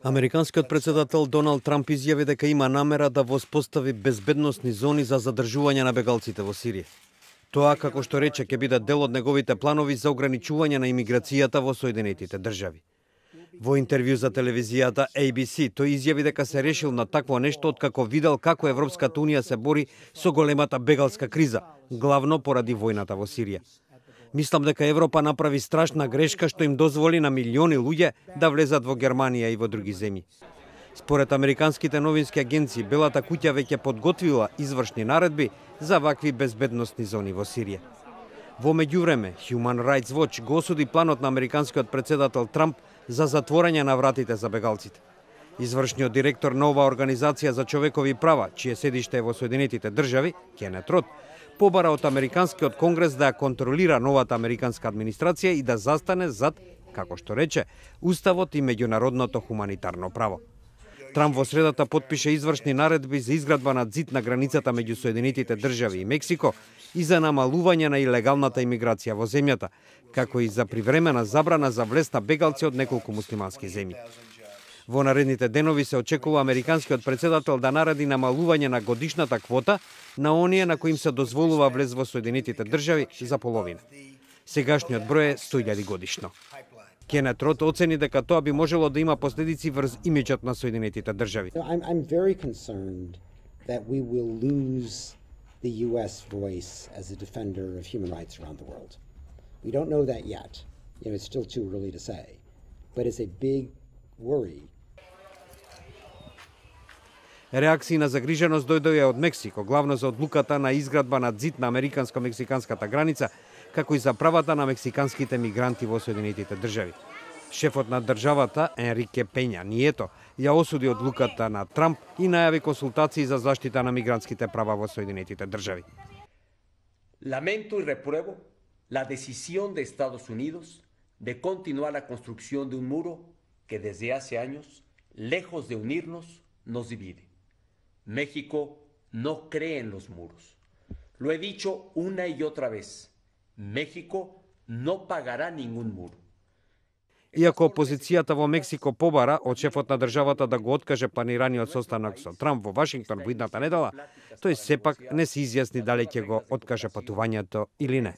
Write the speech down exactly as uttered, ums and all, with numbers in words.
Американскиот председател Доналд Трамп изјави дека има намера да воспостави безбедносни зони за задржување на бегалците во Сирија. Тоа, како што рече, ќе биде дел од неговите планови за ограничување на имиграцијата во Соединетите држави. Во интервју за телевизијата А Би Си, тој изјави дека се решил на такво нешто откако видел како Европската унија се бори со големата бегалска криза, главно поради војната во Сирија. Мислам дека Европа направи страшна грешка што им дозволи на милиони луѓе да влезат во Германија и во други земји. Според американските новински агенции, Белата куќа веќе подготвила извршни наредби за вакви безбедносни зони во Сирија. Во меѓувреме, Human Rights Watch го осуди планот на американскиот председател Трамп за затворање на вратите за бегалците. Извршниот директор на оваа организација за човекови права, чие седиште е во Соединетите држави, Кенет Рот, побара од Американскиот конгрес да ја контролира новата американска администрација и да застане зад, како што рече, уставот и меѓународното хуманитарно право. Трамп во средата потпише извршни наредби за изградба на зид на границата меѓу Соединетите држави и Мексико и за намалување на илегалната имиграција во земјата, како и за привремена забрана за влез на бегалци од неколку муслимански земји. Во наредните денови се очекува американскиот председател да нареди намалување на годишната квота на оние на кои им се дозволува влез во Соединетите држави за половина. Сегашниот број е сто илјади годишно. Кенет Рот оцени дека тоа би можело да има последици врз имиџот на Соединетите држави. I'm, I'm very concerned that we will lose the U S voice as a defender of human rights around the world. We don't know that yet. You know, it's still too early to say. But it's a big worry. Реакции на загриженост дојдоа од Мексико, главно за одлуката на изградба на зид на американско-мексиканската граница, како и за правата на мексиканските мигранти во Соединетите држави. Шефот на државата, Енрике Пења Нието, ја осуди одлуката на Трамп и најави консултации за заштита на мигрантските права во Соединетите држави. Lamento y repruebo la decisión de Estados Unidos de continuar la construcción de un muro que desde hace años, lejos de unirnos, nos divide. México no cree en los muros. Lo he dicho una y otra vez. México no pagará ningún muro. Иако опозицијата во Мексико побара од шефот на државата да го откаже планираниот состанок со Трамп во Вашингтон во идната недела, тој сепак не се изјасни дали ќе го откаже патувањето или не.